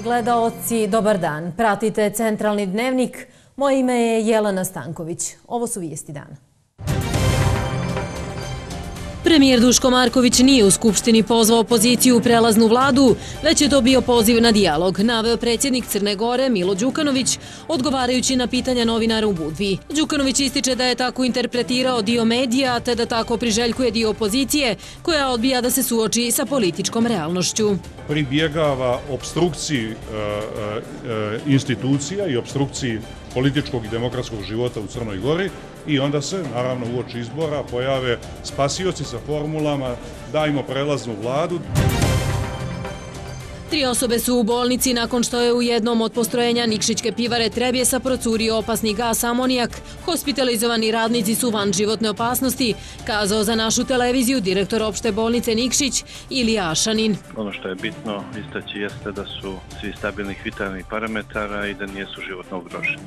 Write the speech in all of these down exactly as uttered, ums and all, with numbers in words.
Poštovani gledaoci, dobar dan. Pratite Centralni dnevnik. Moje ime je Jelena Stanković. Ovo su vijesti dana. Premijer Duško Marković nije u Skupštini pozvao opoziciju u prelaznu vladu, već je to bio poziv na dijalog, naveo predsjednik Crne Gore Milo Đukanović, odgovarajući na pitanja novinara u Budvi. Đukanović ističe da je tako interpretirao dio medija, te da tako priželjkuje dio opozicije, koja odbija da se suoči sa političkom realnošću. Pribjegava opstrukciji institucija i opstrukciji političkog i demokratskog života u Crnoj Gori i onda se, naravno, uoči izbora pojave spasioci sa formulama dajmo prelaznu vladu. Tri osobe su u bolnici nakon što je u jednom od postrojenja Nikšićke pivare Trebjesa procurio opasni gas amonijak. Hospitalizovani radnici su van životne opasnosti, kazao za našu televiziju direktor opšte bolnice Nikšić Ilija Ašanin. Ono što je bitno istaći jeste da su svi stabilnih vitalnih parametara i da nisu životno ugroženi.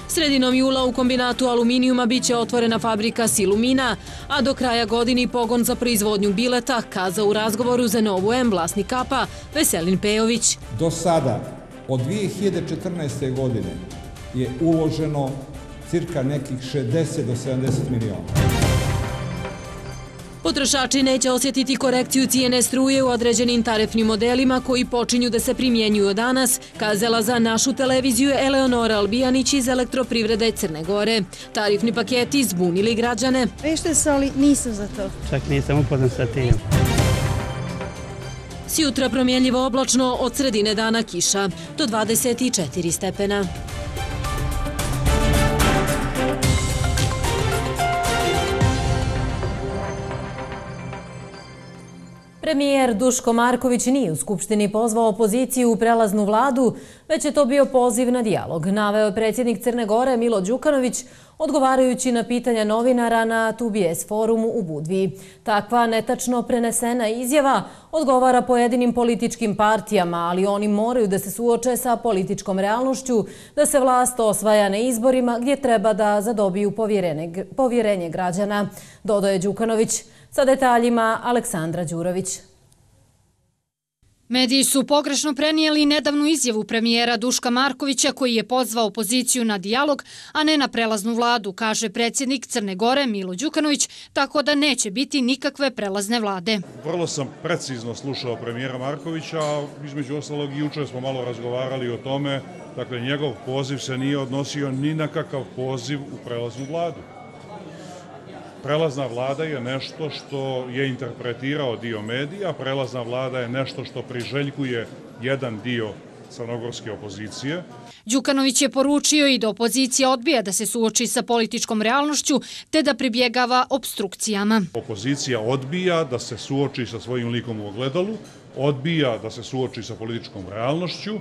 Sredinom jula u kombinatu aluminijuma biće otvorena fabrika Silumina, a do kraja godine pogon za proizvodnju bileta, kazao u razgovoru za Novu M vlasnik Kapa Veselin Pejović. Do sada, od dvije hiljade četrnaeste. godine, je uloženo cirka nekih šezdeset do sedamdeset miliona. Potrošači neće osjetiti korekciju cijene struje u određenim tarifnim modelima koji počinju da se primjenjuju od danas, kazala za našu televiziju Eleonora Albijanić iz Elektroprivrede Crne Gore. Tarifni paketi zbunili građane. Vešte se, ali nisam za to. Čak nisam upoznan sa tim. Sjutra promjenljivo oblačno, od sredine dana kiša, do dvadeset četiri stepena. Premijer Duško Marković nije u Skupštini pozvao opoziciju u prelaznu vladu, već je to bio poziv na dijalog, naveo je predsjednik Crne Gore Milo Đukanović, odgovarajući na pitanja novinara na Tu B S forumu u Budvi. Takva netačno prenesena izjava odgovara pojedinim političkim partijama, ali oni moraju da se suoče sa političkom realnošću, da se vlast osvaja na izborima gdje treba da zadobiju povjerenje građana, dodao je Đukanović. Sa detaljima Aleksandra Đurović. Mediji su pogrešno prenijeli nedavnu izjavu premijera Duška Markovića koji je pozvao opoziciju na dijalog, a ne na prelaznu vladu, kaže predsjednik Crne Gore Milo Đukanović, tako da neće biti nikakve prelazne vlade. Vrlo sam precizno slušao premijera Markovića, a između ostalog i jučer smo malo razgovarali o tome, dakle njegov poziv se nije odnosio ni na kakav poziv u prelaznu vladu. Prelazna vlada je nešto što je interpretirao dio medija, prelazna vlada je nešto što priželjkuje jedan dio crnogorske opozicije. Đukanović je poručio i da opozicija odbija da se suoči sa političkom realnošću te da pribjegava opstrukcijama. Opozicija odbija da se suoči sa svojim likom u ogledalu, odbija da se suoči sa političkom realnošću,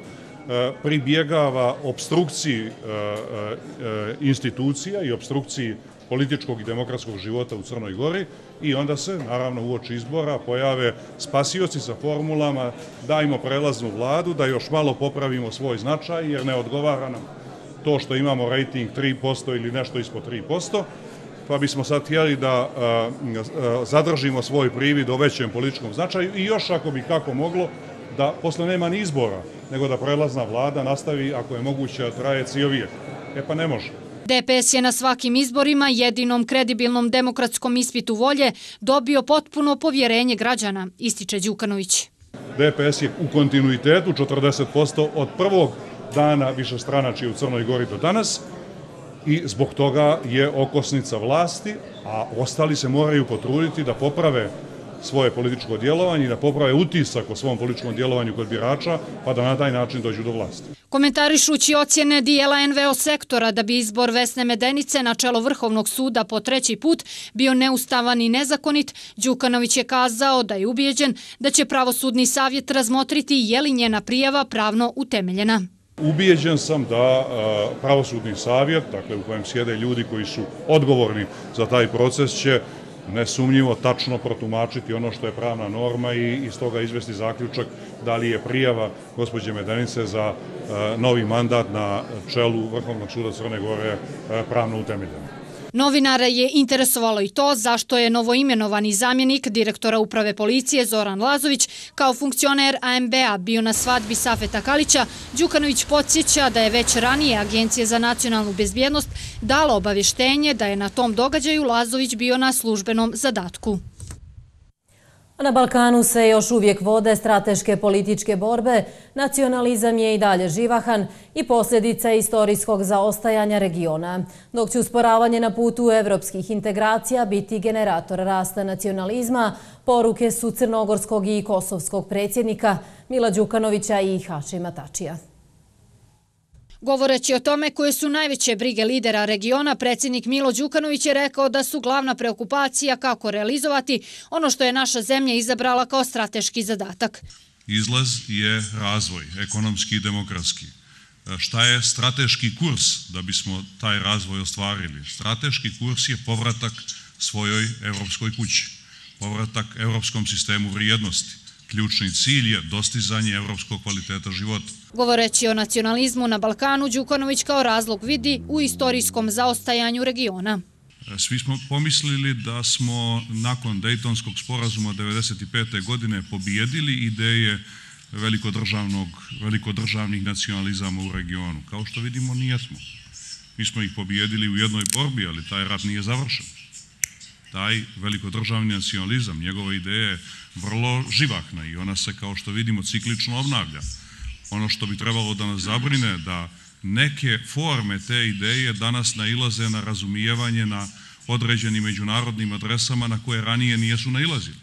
pribjegava opstrukciji institucija i opstrukciji političkog i demokratskog života u Crnoj Gori i onda se, naravno, uoči izbora pojave spasioci sa formulama dajmo prelaznu vladu, da još malo popravimo svoj značaj jer ne odgovara nam to što imamo rejting tri posto ili nešto ispod tri posto, pa bismo sad htjeli da zadržimo svoj privid o većem političkom značaju i još ako bi kako moglo da posle nema ni izbora, nego da prelazna vlada nastavi, ako je moguće, da traje cijel vijek. E pa ne može. D P S je na svakim izborima, jedinom kredibilnom demokratskom ispitu volje, dobio potpuno povjerenje građana, ističe Đukanović. D P S je u kontinuitetu četrdeset posto od prvog dana višestranačja u Crnoj Gori do danas i zbog toga je okosnica vlasti, a ostali se moraju potruditi da poprave svoje političko djelovanje i da poprave utisak o svom političkom djelovanju kod birača, pa da na taj način dođu do vlasti. Komentarišući ocjene dijela N V O sektora da bi izbor Vesne Medenice na čelo Vrhovnog suda po treći put bio neustavan i nezakonit, Đukanović je kazao da je ubijeđen da će pravosudni savjet razmotriti je li njena prijava pravno utemeljena. Ubijeđen sam da pravosudni savjet, dakle u kojem sjede ljudi koji su odgovorni za taj proces, će nesumnjivo tačno protumačiti ono što je pravna norma i iz toga izvesti zaključak da li je prijava gospođe Medenice za novi mandat na čelu Vrhovnog suda Crne Gore pravno utemeljena. Novinara je interesovalo i to zašto je novoimenovani zamjenik direktora uprave policije Zoran Lazović kao funkcioner A M B-a bio na svadbi Safeta Kalića. Đukanović podsjeća da je već ranije Agencija za nacionalnu bezbjednost dala obavještenje da je na tom događaju Lazović bio na službenom zadatku. Na Balkanu se još uvijek vode strateške političke borbe, nacionalizam je i dalje živahan i posljedica istorijskog zaostajanja regiona, dok će usporavanje na putu evropskih integracija biti generator rasta nacionalizma, poruke su crnogorskog i kosovskog predsjednika Mila Đukanovića i Hašima Tačija. Govoreći o tome koje su najveće brige lidera regiona, predsjednik Milo Đukanović je rekao da su glavna preokupacija kako realizovati ono što je naša zemlja izabrala kao strateški zadatak. Izlaz je razvoj, ekonomski i demokratski. Šta je strateški kurs da bismo taj razvoj ostvarili? Strateški kurs je povratak svojoj evropskoj kući, povratak evropskom sistemu vrijednosti. Ključni cilj je dostizanje evropskog kvaliteta života. Govoreći o nacionalizmu na Balkanu, Đukanović kao razlog vidi u istorijskom zaostajanju regiona. Svi smo pomislili da smo nakon Dejtonskog sporazuma devedeset pete. godine pobijedili ideje velikodržavnog, velikodržavnih nacionalizama u regionu. Kao što vidimo, nijesmo. Mi smo ih pobijedili u jednoj borbi, ali taj rat nije završen. Taj velikodržavni nacionalizam, njegova ideja je vrlo živahna i ona se, kao što vidimo, ciklično obnavlja. Ono što bi trebalo da nas zabrine da neke forme te ideje danas nailaze na razumijevanje na određenim međunarodnim adresama na koje ranije nijesu nailazili.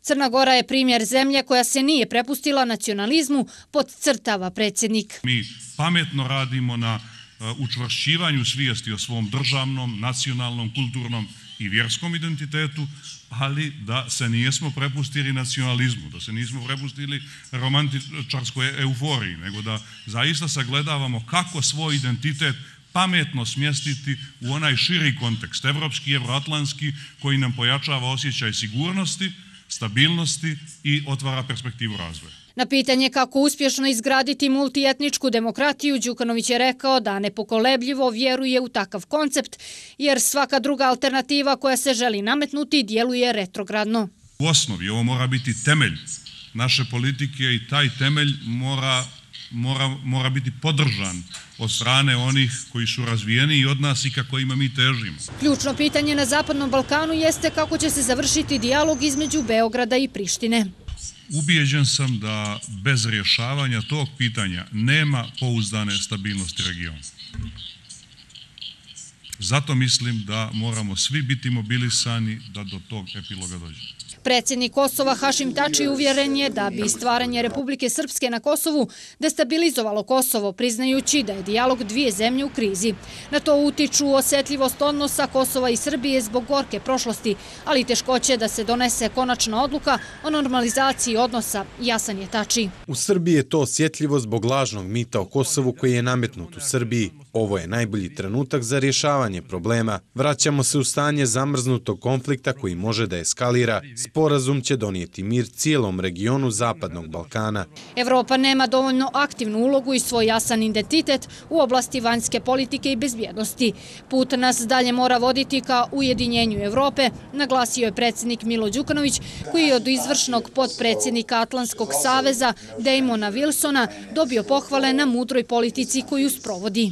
Crna Gora je primjer zemlje koja se nije prepustila nacionalizmu, podcrtava predsjednik. Mi pametno radimo na učvršćivanju svijesti o svom državnom, nacionalnom, kulturnom i vjerskom identitetu, ali da se nijesmo prepustili nacionalizmu, da se nismo prepustili romantičarskoj euforiji, nego da zaista sagledavamo kako svoj identitet pametno smjestiti u onaj širi kontekst, evropski, evroatlantski, koji nam pojačava osjećaj sigurnosti, stabilnosti i otvara perspektivu razvoja. Na pitanje kako uspješno izgraditi multietničku demokratiju, Đukanović je rekao da nepokolebljivo vjeruje u takav koncept, jer svaka druga alternativa koja se želi nametnuti djeluje retrogradno. U osnovi ovo mora biti temelj naše politike i taj temelj mora, mora, mora biti podržan od strane onih koji su razvijeni od nas i ka kojima mi težimo. Ključno pitanje na Zapadnom Balkanu jeste kako će se završiti dijalog između Beograda i Prištine. Ubijeđen sam da bez rješavanja tog pitanja nema pouzdane stabilnosti regiona. Zato mislim da moramo svi biti mobilisani da do tog epiloga dođe. Predsjednik Kosova Hašim Tači uvjeren je da bi stvaranje Republike Srpske na Kosovu destabilizovalo Kosovo, priznajući da je dijalog dvije zemlje u krizi. Na to utiču osjetljivost odnosa Kosova i Srbije zbog gorke prošlosti, ali i teškoće da se donese konačna odluka o normalizaciji odnosa, jasan je Tači. U Srbiji je to osjetljivo zbog lažnog mita o Kosovu koji je nametnut u Srbiji. Ovo je najbolji trenutak za rješavanje problema. Vraćamo se u stanje zamrznutog konflikta koji može da eskalira. Sporazum će donijeti mir cijelom regionu Zapadnog Balkana. Evropa nema dovoljno aktivnu ulogu i svoj jasan identitet u oblasti vanjske politike i bezbjednosti. Put nas dalje mora voditi ka ujedinjenju Evrope, naglasio je predsjednik Milo Đukanović, koji je od izvršnog potpredsjednika Atlantskog saveza Damona Wilsona dobio pohvale na mudroj politici koju sprovodi.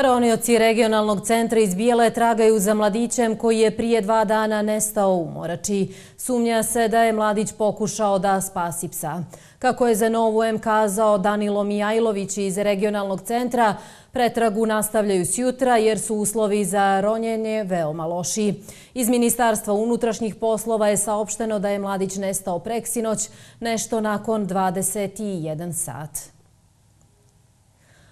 Ronioci regionalnog centra iz Bijele tragaju za mladićem koji je prije dva dana nestao u Morači. Sumnja se da je mladić pokušao da spasi psa. Kako je za Novu M kazao Danilo Mijajlović iz regionalnog centra, pretragu nastavljaju sjutra jer su uslovi za ronjenje veoma loši. Iz Ministarstva unutrašnjih poslova je saopšteno da je mladić nestao preksinoć, nešto nakon dvadeset jedan sat.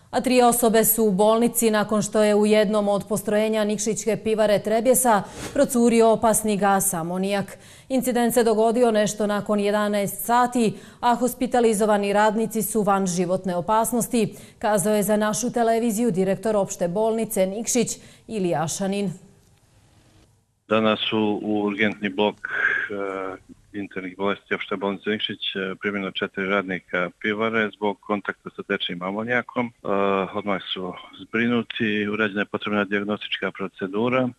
A tri osobe su u bolnici nakon što je u jednom od postrojenja Nikšićke pivare Trebjesa procurio opasni gas amonijak. Incident se dogodio nešto nakon jedanaest sati, a hospitalizovani radnici su van životne opasnosti, kazao je za našu televiziju direktor opšte bolnice Nikšić Ilija Šanin. Danas su u urgentni blok internih bolesti opšte bolnice Nikšić primjeno četiri radnika pivare zbog kontakta sa tečnim amonjakom. Odmah su zbrinuti, urađena je potrebna dijagnostička procedura.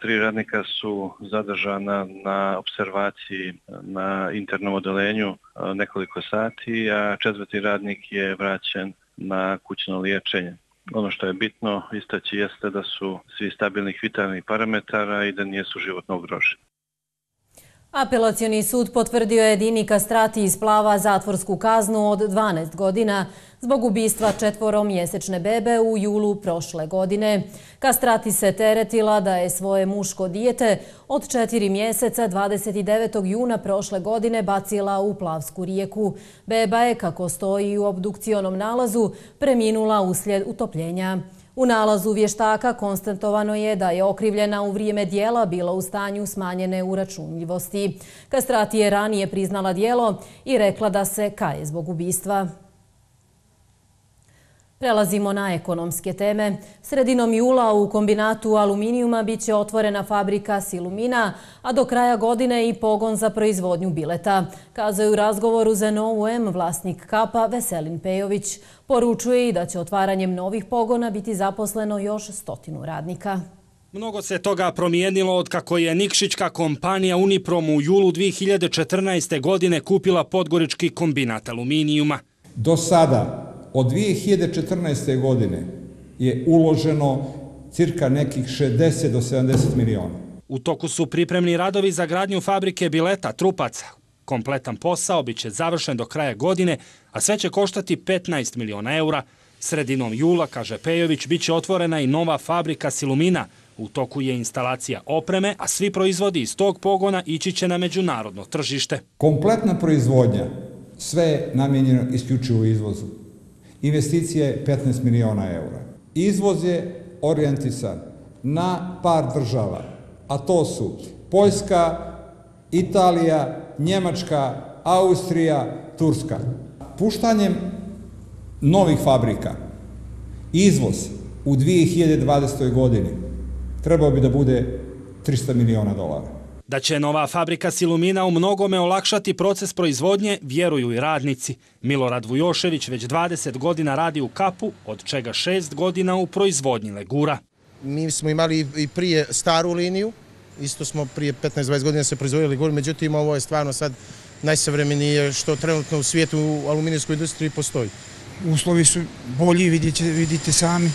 Tri radnika su zadržana na observaciji na internom odelenju nekoliko sati, a četvrti radnik je vraćen na kućno liječenje. Ono što je bitno istaći jeste da su svi stabilnih vitalnih parametara i da nisu životno ugroženi. Apelacioni sud potvrdio je Dini Kastrati iz Plava zatvorsku kaznu od dvanaest godina zbog ubistva četvoromjesečne bebe u julu prošle godine. Kastrati se teretila da je svoje muško dijete od četiri mjeseca dvadeset devetog juna prošle godine bacila u Plavsku rijeku. Beba je, kako stoji u obdukcionom nalazu, preminula uslijed utopljenja. U nalazu vještaka konstatovano je da je okrivljena u vrijeme dijela bila u stanju smanjene uračunljivosti. Kastrati je ranije priznala dijelo i rekla da se kaje zbog ubistva. Prelazimo na ekonomske teme. Sredinom jula u kombinatu aluminijuma bit će otvorena fabrika Silumina, a do kraja godine i pogon za proizvodnju bileta. Kazao je u razgovoru za Novu M vlasnik Kapa Veselin Pejović. Poručuje i da će otvaranjem novih pogona biti zaposleno još stotinu radnika. Mnogo se toga promijenilo od kako je nikšićka kompanija Uniprom u julu dvije hiljade četrnaeste. godine kupila podgorički kombinat aluminijuma. Do sada, od dvije hiljade četrnaeste. godine je uloženo cirka nekih šezdeset do sedamdeset miliona. U toku su pripremni radovi za gradnju fabrike bileta trupaca. Kompletan posao bit će završen do kraja godine, a sve će koštati petnaest miliona eura. Sredinom jula, kaže Pejović, bit će otvorena i nova fabrika Silumina. U toku je instalacija opreme, a svi proizvodi iz tog pogona ići će na međunarodno tržište. Kompletna proizvodnja, sve je namijenjeno isključivo izvozu. Investicija je petnaest miliona eura. Izvoz je orijentisan na par država, a to su Poljska, Italija, Njemačka, Austrija, Turska. Puštanjem novih fabrika, izvoz u dvije hiljade dvadesetoj. godini trebao bi da bude trista miliona dolara. Da će nova fabrika Silumina u mnogome olakšati proces proizvodnje, vjeruju i radnici. Milorad Vujošević već dvadeset godina radi u Kapu, od čega šest godina u proizvodnji legura. Mi smo imali i prije staru liniju, isto smo prije petnaest do dvadeset godina se proizvodili legur, međutim ovo je stvarno sad najsavremenije što trenutno u svijetu u aluminijskoj industriji postoji. Uslovi su bolji, vidite, vidite sami,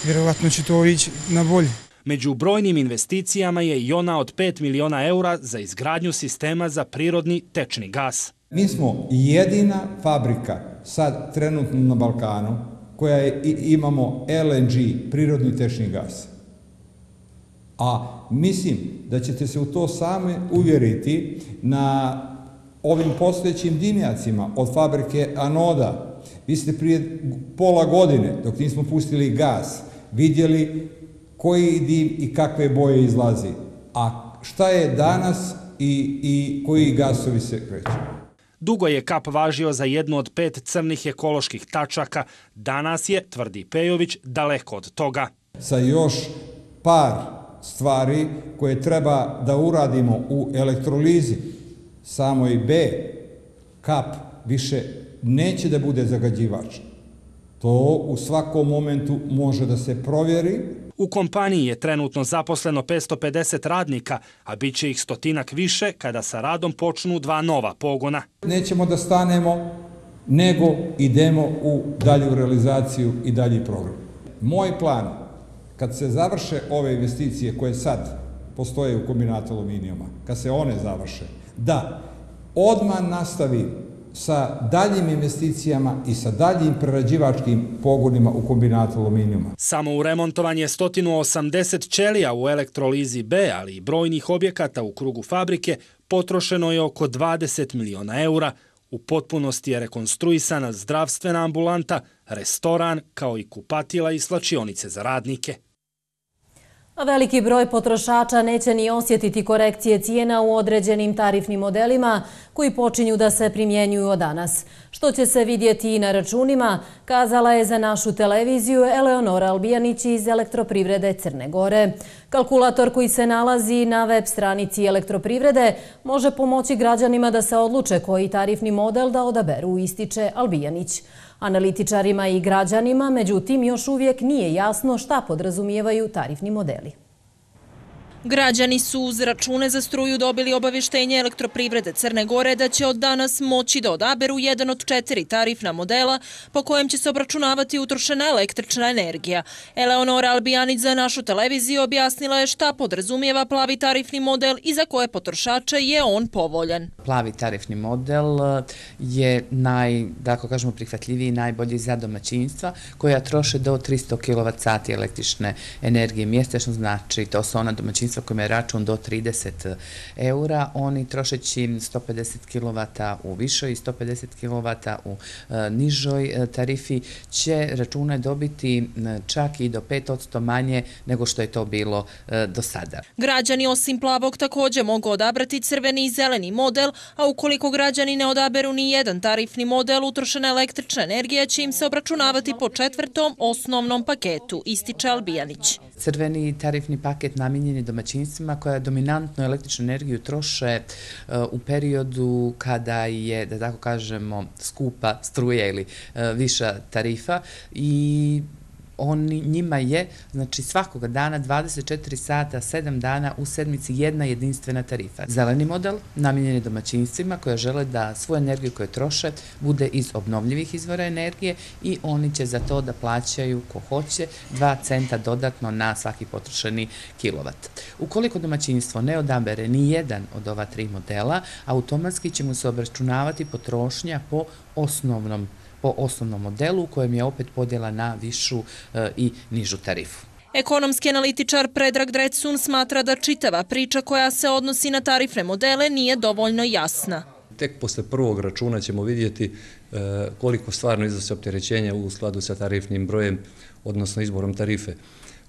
vjerovatno će to ići na bolje. Među brojnim investicijama je i ona od pet miliona eura za izgradnju sistema za prirodni tečni gas. Mi smo jedina fabrika sad trenutno na Balkanu koja je, imamo L N G, prirodni tečni gas. A mislim da ćete se u to same uvjeriti na ovim postojećim dimnjacima od fabrike anoda. Vi ste prije pola godine, dok nismo pustili gas, vidjeli koji dim i kakve boje izlazi. A šta je danas i, i koji gasovi se kreću? Dugo je Kap važio za jednu od pet crnih ekoloških tačaka. Danas je, tvrdi Pejović, daleko od toga. Sa još par stvari koje treba da uradimo u elektrolizi samoj B, Kap više neće da bude zagađivač. To u svakom momentu može da se provjeri. U kompaniji je trenutno zaposleno petsto pedeset radnika, a bit će ih stotinak više kada sa radom počnu dva nova pogona. Nećemo da stanemo, nego idemo u dalju realizaciju i dalji program. Moj plan, kad se završe ove investicije koje sad postoje u kombinatu aluminijuma, kad se one završe, da odmah nastavim sa daljim investicijama i sa daljim prerađivačkim pogonima u kombinatu aluminijuma. Samo u remontovanje sto osamdeset ćelija u elektrolizi B, ali i brojnih objekata u krugu fabrike, potrošeno je oko dvadeset miliona eura. U potpunosti je rekonstruisana zdravstvena ambulanta, restoran, kao i kupatila i slačionice za radnike. A veliki broj potrošača neće ni osjetiti korekcije cijena u određenim tarifnim modelima koji počinju da se primjenjuju od danas. Što će se vidjeti i na računima, kazala je za našu televiziju Eleonora Albijanić iz Elektroprivrede Crne Gore. Kalkulator koji se nalazi na web stranici Elektroprivrede može pomoći građanima da se odluče koji tarifni model da odaberu, ističe Albijanić. Analitičarima i građanima, međutim, još uvijek nije jasno šta podrazumijevaju tarifni modeli. Građani su uz račune za struju dobili obavještenje Elektroprivrede Crne Gore da će od danas moći da odaberu jedan od četiri tarifna modela po kojem će se obračunavati utrošena električna energija. Eleonora Albijanić za našu televiziju objasnila je šta podrazumijeva plavi tarifni model i za koje potrošače je on povoljan. Plavi tarifni model je naj, da ako kažemo, prihvatljiviji i najbolji za domaćinstva koja troše do tristo kilovat sati električne energije mjesečno, znači to su ona domaćinstva kojima je račun do trideset eura, oni trošeći sto pedeset kilovata u višoj i sto pedeset kilovata u e, nižoj e, tarifi će račune dobiti e, čak i do pet posto manje nego što je to bilo e, do sada. Građani osim plavog također mogu odabrati crveni i zeleni model, a ukoliko građani ne odaberu ni jedan tarifni model, utrošena električna energija će im se obračunavati po četvrtom osnovnom paketu, ističe Albijanić. Crveni tarifni paket namijenjen je domaćinstvima koja dominantnu električnu energiju troše uh, u periodu kada je, da tako kažemo, skupa struja ili uh, viša tarifa i Oni, njima je, znači svakoga dana, dvadeset četiri sata, sedam dana u sedmici jedna jedinstvena tarifa. Zeleni model namijenjen je domaćinstvima koja žele da svoju energiju koju troše bude iz obnovljivih izvora energije i oni će za to da plaćaju, ko hoće, dva centa dodatno na svaki potrošeni kilovat. Ukoliko domaćinstvo ne odabere ni jedan od ova tri modela, automatski će mu se obračunavati potrošnja po osnovnom po osnovnom modelu u kojem je opet podjela na višu e, i nižu tarifu. Ekonomski analitičar Predrag Drecun smatra da čitava priča koja se odnosi na tarifne modele nije dovoljno jasna. Tek posle prvog računa ćemo vidjeti e, koliko stvarno iznosi opterećenja u skladu sa tarifnim brojem, odnosno izborom tarife.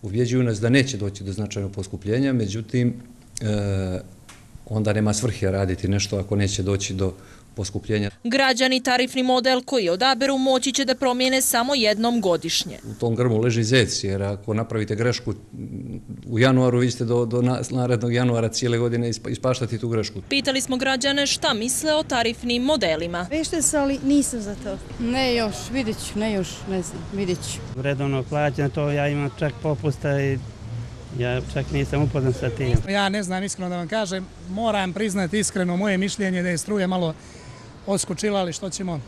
Ubjeđuju nas da neće doći do značajnog poskupljenja, međutim, e, onda nema svrhe raditi nešto ako neće doći do poskupljenja. Građani tarifni model koji odaberu moći će da promijene samo jednom godišnje. U tom grmu leži zec, jer ako napravite grešku u januaru, vi ćete do, do narednog januara cijele godine ispaštati tu grešku. Pitali smo građane šta misle o tarifnim modelima. Vešte se, ali nisam za to. Ne još, vidit ću, ne još, ne znam, vidit ću. Redovno plaćam to, ja imam čak popusta i ja čak nisam upoznan sa tim. Ja ne znam, iskreno da vam kažem, moram priznati iskreno moje mišljenje da je struja malo odskočila, ali što ćemo,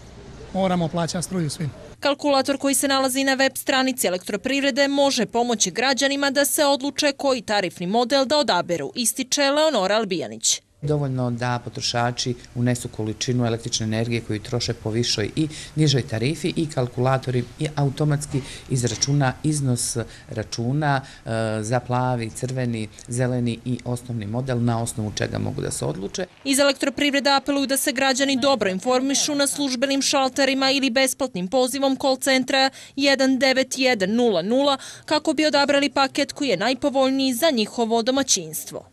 moramo plaćati struju svim. Kalkulator koji se nalazi na web stranici Elektroprivrede može pomoći građanima da se odluče koji tarifni model da odaberu, ističe Eleonora Albijanić. Dovoljno da potrošači unesu količinu električne energije koju troše po višoj i nižoj tarifi i kalkulatori i automatski izračuna iznos računa e, za plavi, crveni, zeleni i osnovni model na osnovu čega mogu da se odluče. Iz Elektroprivrede apeluju da se građani dobro informišu na službenim šalterima ili besplatnim pozivom call centra jedan devet jedan nula nula kako bi odabrali paket koji je najpovoljniji za njihovo domaćinstvo.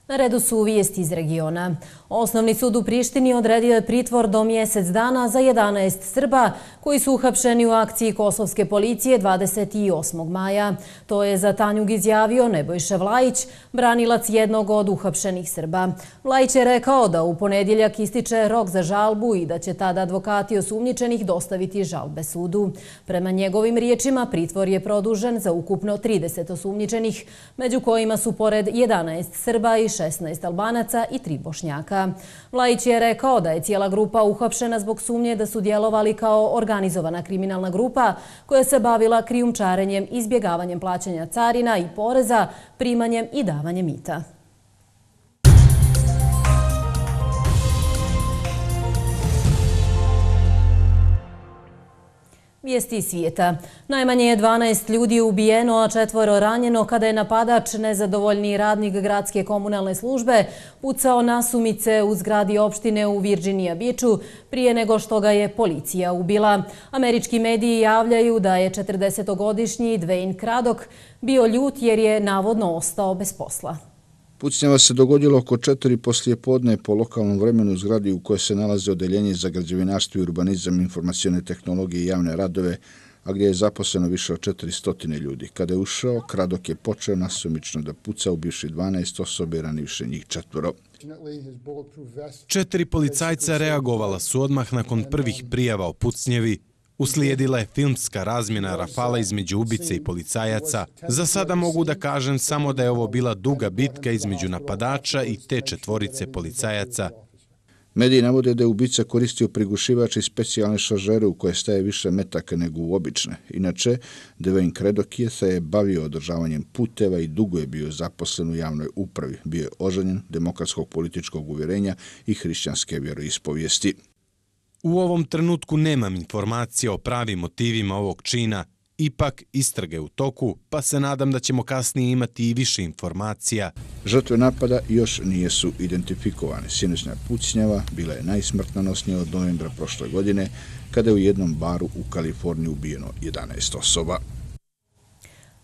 Na redu su vijesti iz regiona. Osnovni sud u Prištini odredio je pritvor do mjesec dana za jedanaest Srba koji su uhapšeni u akciji kosovske policije dvadeset osmog maja. To je za Tanjug izjavio Nebojša Vlajić, branilac jednog od uhapšenih Srba. Vlajić je rekao da u ponedjeljak ističe rok za žalbu i da će tada advokati osumnjičenih dostaviti žalbe sudu. Prema njegovim riječima pritvor je produžen za ukupno trideset osumnjičenih, među kojima su pored jedanaest Srba i šesnaest Albanaca i tri Bošnjaka. Vlajić je rekao da je cijela grupa uhapšena zbog sumnje da su djelovali kao organizovana kriminalna grupa koja se bavila krijumčarenjem, izbjegavanjem plaćanja carina i poreza, primanjem i davanjem mita. Vijesti svijeta. Najmanje je dvanaest ljudi ubijeno, a četvoro ranjeno kada je napadač, nezadovoljni radnik gradske komunalne službe, pucao nasumice u zgradi opštine u Virginia Beachu prije nego što ga je policija ubila. Američki mediji javljaju da je četrdesetogodišnji Dwayne Craddock bio ljut jer je navodno ostao bez posla. Pucnjava se dogodilo oko četiri poslijepodne po lokalnom vremenu u zgradi u kojoj se nalaze odeljenje za građevinarstvo i urbanizam, informacione tehnologije i javne radove, a gdje je zaposleno više od četiristo ljudi. Kada je ušao, Craddock je počeo nasumično da puca, ubivši dvanaest osobe i ranivši njih četvoro. Četiri policajca reagovala su odmah nakon prvih prijava o pucnjevi. Uslijedila je filmska razmjena rafala između ubice i policajaca. Za sada mogu da kažem samo da je ovo bila duga bitka između napadača i te četvorice policajaca. Mediji navode da je ubica koristio prigušivač i specijalne šaržere u koje staje više metaka nego u obične. Inače, Dwayne Craddock je se je bavio održavanjem puteva i dugo je bio zaposlen u javnoj upravi. Bio je oženjen, demokratskog političkog uvjerenja i hrišćanske vjeroispovijesti. U ovom trenutku nemam informacija o pravim motivima ovog čina, ipak istrage u toku, pa se nadam da ćemo kasnije imati i više informacija. Žrtve napada još nijesu identifikovane. Sinoćna pucnjava bila je najsmrtnonosnija od novembra prošle godine, kada je u jednom baru u Kaliforniji ubijeno jedanaest osoba.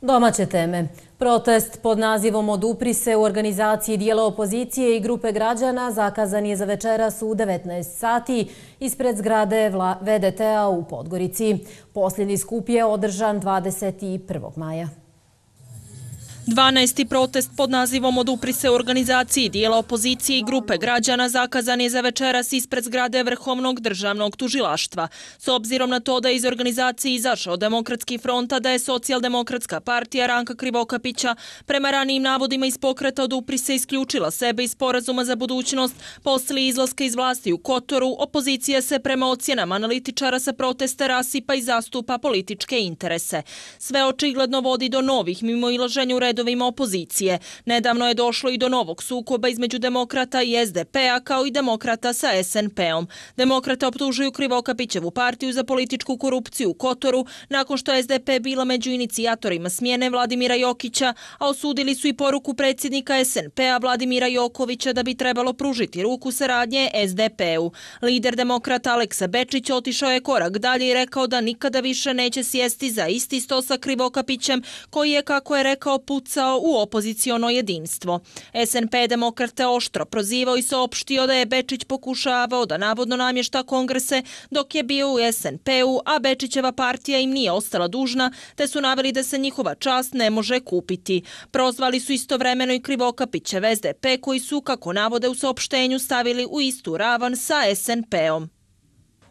Domaće teme. Protest pod nazivom Odupri se u organizaciji dijela opozicije i grupe građana zakazan je za večeras u devetnaest sati ispred zgrade V D T-a u Podgorici. Posljednji skup je održan dvadeset prvog maja. dvanaesti protest pod nazivom Odupri se u organizaciji dijela opozicije i grupe građana zakazan je za večeras ispred zgrade Vrhovnog državnog tužilaštva. S obzirom na to da je iz organizacije izašao Demokratski front, a da je Socijaldemokratska partija Ranka Krivokapića prema ranijim navodima iz pokreta Odupri se isključila sebe iz sporazuma za budućnost poslije izlaska iz vlasti u Kotoru, opozicija se prema ocjenama analitičara sa protesta rasipa i zastupa političke interese. Sve očigledno vodi do novih mimoilaženja u redovima opozicije. Nedavno je došlo i do novog sukoba između demokrata i S D P-a kao i demokrata sa S N P-om. Demokrate optužuju Krivokapićevu partiju za političku korupciju u Kotoru nakon što je S D P bila među inicijatorima smjene Vladimira Jokića, a osudili su i poruku predsjednika S N P-a Vladimira Jokovića da bi trebalo pružiti ruku saradnje S D P-u. Lider demokrata Aleksa Bečić otišao je korak dalje i rekao da nikada više neće sjesti za isti sto sa Krivokapićem, koji je, kako je rekao, pucao u opoziciono jedinstvo. S N P demokrate oštro prozivao i saopštio da je Bečić pokušavao da navodno namješta kongrese dok je bio u S N P-u, a Bečićeva partija im nije ostala dužna, te su naveli da se njihova čast ne može kupiti. Prozvali su istovremeno i Krivokapićev S D P, koji su, kako navode u saopštenju, stavili u istu ravan sa S N P-om.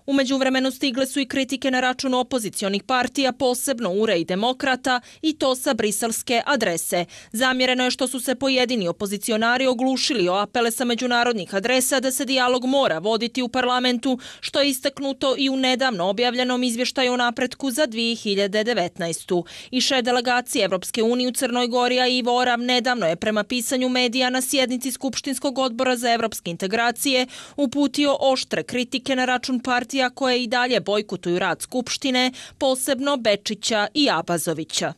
U međuvremenu stigle su i kritike na račun opozicionih partija, posebno U R E i Demokrata, i to sa briselske adrese. Zamjereno je što su se pojedini opozicionari oglušili o apele sa međunarodnih adresa da se dijalog mora voditi u parlamentu, što je istaknuto i u nedavno objavljenom izvještaju o napretku za dvije hiljade devetnaestu. I šef delegacije Evropske unije u Crnoj Gori, a Ivo Orav, nedavno je prema pisanju medija na sjednici Skupštinskog odbora za evropske integracije uputio oštre kritike na račun partija koje i dalje bojkotuju rad Skupštine, posebno Bečića i Abazovića.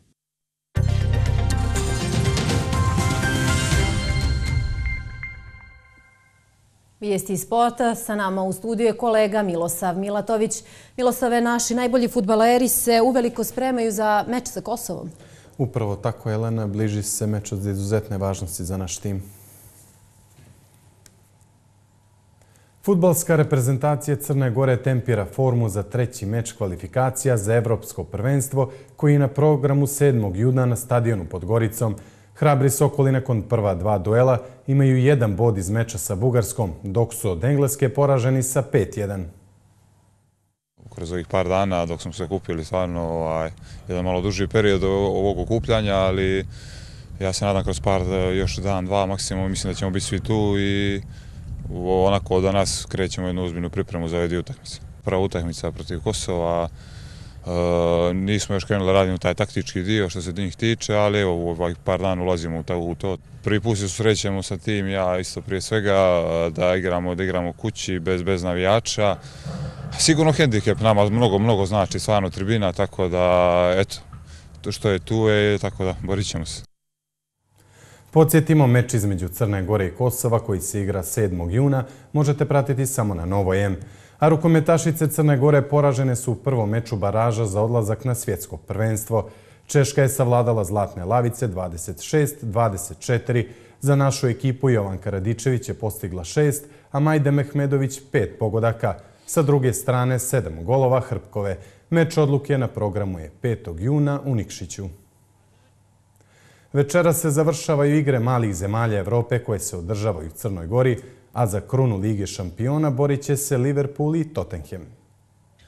Vijesti sporta, sa nama u studiju je kolega Milosav Milatović. Milosave, naši najbolji fudbaleri se uveliko spremaju za meč sa Kosovom. Upravo tako, Elena, bliži se meč od izuzetne važnosti za naš tim. Fudbalska reprezentacija Crne Gore tempira formu za treći meč kvalifikacija za Evropsko prvenstvo koji je na programu sedmog juna na stadionu pod Goricom. Hrabri Sokoli nakon prva dva duela imaju jedan bod iz meča sa Bugarskom, dok su od Engleske poraženi sa pet jedan. Kroz ovih par dana dok smo se kupili stvarno ovaj, jedan malo duži period ovog okupljanja, ali ja se nadam kroz par, još dan, dva maksimum, mislim da ćemo biti svi tu i onako da nas krećemo jednu ozbiljnu pripremu za ove dvije utakmice. Prva utakmica protiv Kosova, e, nismo još krenuli da radimo taj taktički dio što se njih tiče, ali evo u ovih par dana ulazimo u to. Prvi put se susrećemo sa tim, ja isto prije svega da igramo, da igramo kući bez, bez navijača. Sigurno hendikep, nama mnogo, mnogo znači stvarno tribina, tako da, eto, to što je tu je, tako da, borit ćemo se. Podsjetimo, meč između Crne Gore i Kosova koji se igra sedmog juna možete pratiti samo na Novoj M. A rukometašice Crne Gore poražene su u prvom meču baraža za odlazak na svjetsko prvenstvo. Češka je savladala zlatne lavice dvadeset šest dvadeset četiri. Za našu ekipu Jovanka Radičević je postigla šest, a Majde Mehmedović pet pogodaka. Sa druge strane sedam golova Hrpkove. Meč odluke na programu je petog juna u Nikšiću. Večera se završavaju igre malih zemalja Evrope koje se održavaju u Crnoj Gori, a za krunu Lige šampiona borit će se Liverpool i Tottenham.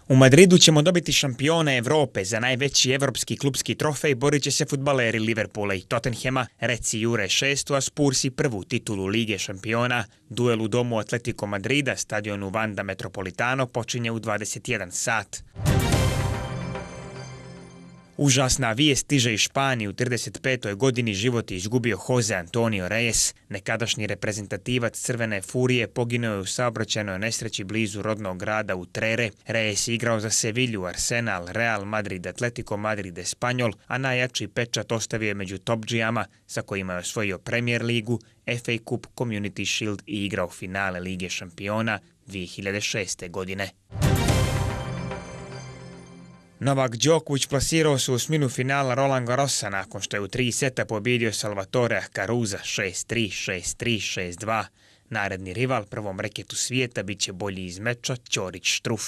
U Madridu ćemo dobiti šampiona Evrope. Za najveći evropski klubski trofej borit će se fudbaleri Liverpoola i Tottenhama. Reci Jure šestu, a Spursi prvu titulu Lige šampiona. Duel u domu Atletico Madrida, stadionu Wanda Metropolitano, počinje u dvadeset jedan sat. Užasna vijest stiže iz Španije. U trideset petoj godini život je izgubio Jose Antonio Reyes. Nekadašnji reprezentativac Crvene Furije poginuo je u saobraćajnoj nesreći blizu rodnog grada Utrere. Reyes je igrao za Sevilju, Arsenal, Real Madrid, Atletico Madrid, Espanyol, a najjači pečat ostavio je među topdžijama sa kojima je osvojio Premier ligu, F A Cup, Community Shield i igrao finale Lige šampiona dvije hiljade šeste. godine. Novak Đoković plasirao se u osminu finala Roland Garrosa nakon što je u tri seta pobjedio Salvatorea Caruza šest tri, šest tri, šest dva. Naredni rival prvom reketu svijeta bit će bolji iz meča Ćorić Štruf.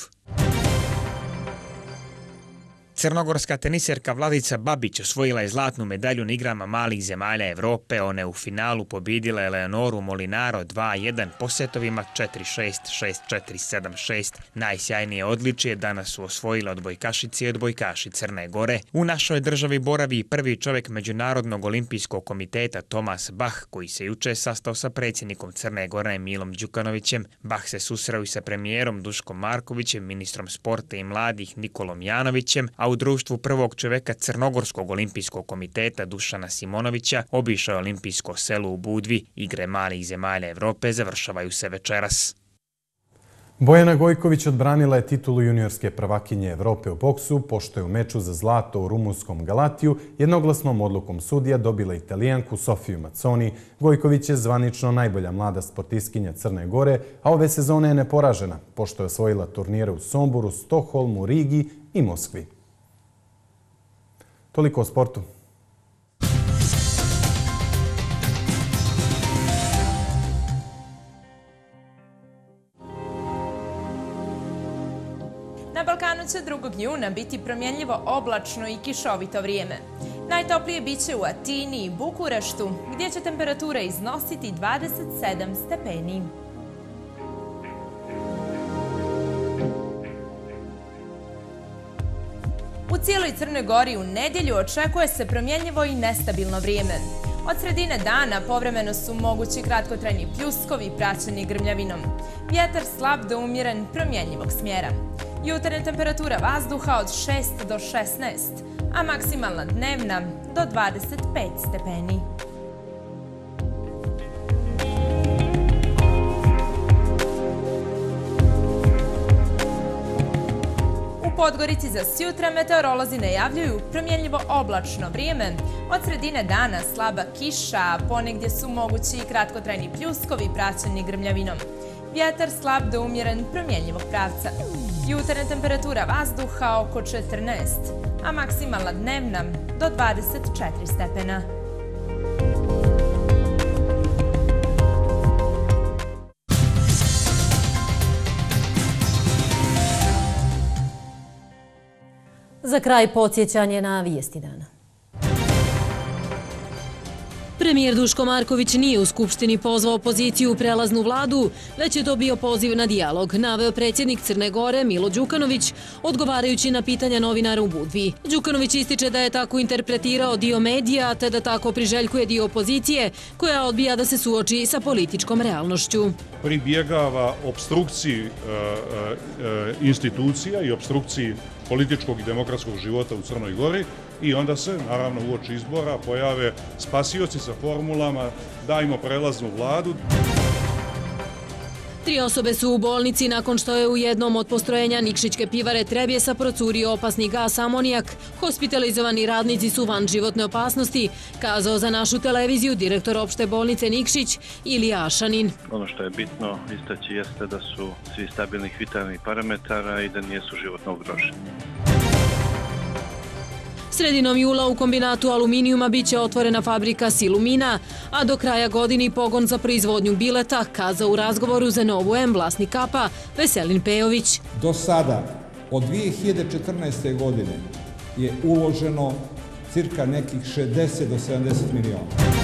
Crnogorska teniserka Vladica Babić osvojila je zlatnu medalju na igrama malih zemalja Evrope. Ona je u finalu pobjedila Eleonoru Molinaro dva jedan po setovima četiri šest, šest četiri, sedam šest. Najsjajnije odličje danas su osvojile odbojkašice i odbojkaši Crne Gore. U našoj državi boravi prvi čovjek Međunarodnog olimpijskog komiteta Tomas Bach, koji se juče sastao sa predsjednikom Crne Gore Milom Đukanovićem. Bach se susreo i sa premijerom Duškom Markovićem, ministrom sporta i mladih Nikolom Janovićem, a u društvu prvog čovjeka Crnogorskog olimpijskog komiteta Dušana Simonovića obišao je olimpijsko selo u Budvi. Igre malih zemalja Evrope završavaju se večeras. Bojana Gojković odbranila je titulu juniorske prvakinje Evrope u boksu, pošto je u meču za zlato u rumunskom Galatiju jednoglasnom odlukom sudija dobila Italijanku Sofiju Mazzoni. Gojković je zvanično najbolja mlada sportistkinja Crne Gore, a ove sezone je neporažena, pošto je osvojila turnire u Somboru, Stokholmu, Rigi i Moskvi. Toliko o sportu. Na Balkanu će drugog juna biti promjenljivo oblačno i kišovito vrijeme. Najtoplije biće u Atini i Bukureštu, gdje će temperatura iznositi dvadeset sedam stepeni. U cijeloj Crnoj Gori u nedjelju očekuje se promjenljivo i nestabilno vrijeme. Od sredine dana povremeno su mogući kratkotrajni pljuskovi praćeni grmljavinom. Vjetar slab do umjeren promjenjivog smjera. Jutarnja temperatura vazduha od šest do šesnaest, a maksimalna dnevna do dvadeset pet stepeni. U Podgorici za sjutra meteorolozi najavljuju promjenljivo oblačno vrijeme. Od sredine dana slaba kiša, a ponegdje su mogući i kratkotrajni pljuskovi praćeni grmljavinom. Vjetar slab do umjeren promjenjivog pravca. Jutarnja temperatura vazduha oko četrnaest, a maksimalna dnevna do dvadeset četiri stepena. Za kraj podsjećanje na vijesti dana. Premijer Duško Marković nije u Skupštini pozvao opoziciju u prelaznu vladu, već je to bio poziv na dijalog, naveo predsjednik Crne Gore Milo Đukanović, odgovarajući na pitanja novinara u Budvi. Đukanović ističe da je tako interpretirao dio medija, te da tako priželjkuje dio opozicije, koja odbija da se suoči sa političkom realnošću. Pribjegava obstrukciji institucija i obstrukciji političkog i demokratskog života u Crnoj Gori i onda se, naravno, uoči izbora pojave spasioci sa formulama dajmo prelaznu vladu. Tri osobe su u bolnici nakon što je u jednom od postrojenja Nikšićke pivare Trebjesa procurio opasni gas amonijak. Hospitalizovani radnici su van životne opasnosti, kazao za našu televiziju direktor opšte bolnice Nikšić Ilija Ašanin. Ono što je bitno istaći jeste da su svi stabilnih vitalnih parametara i da nijesu životno ugroženi. Sredinom jula u kombinatu aluminijuma biće otvorena fabrika Silumina, a do kraja godini pogon za proizvodnju bileta, kazao u razgovoru za Novu M vlasnik Kapa Veselin Pejović. Do sada, od dvije hiljade četrnaeste. godine, je uloženo cirka nekih šezdeset do sedamdeset miliona.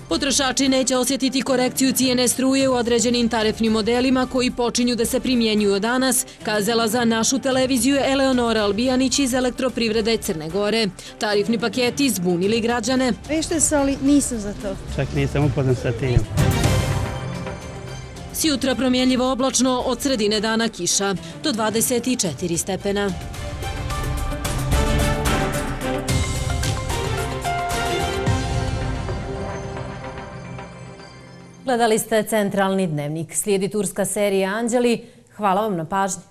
Potrošači neće osjetiti korekciju cijene struje u određenim tarifnim modelima koji počinju da se primjenjuju danas, kazala za našu televiziju Eleonora Albijanić iz Elektroprivrede Crne Gore. Tarifni paketi zbunili građane. Vešte se, ali nisam za to. Čak nisam upoznat sa tim. Sjutra promjenljivo oblačno, od sredine dana kiša, do dvadeset četiri stepena. Gledali ste Centralni dnevnik. Slijedi turska serija Anđeli. Hvala vam na pažnji.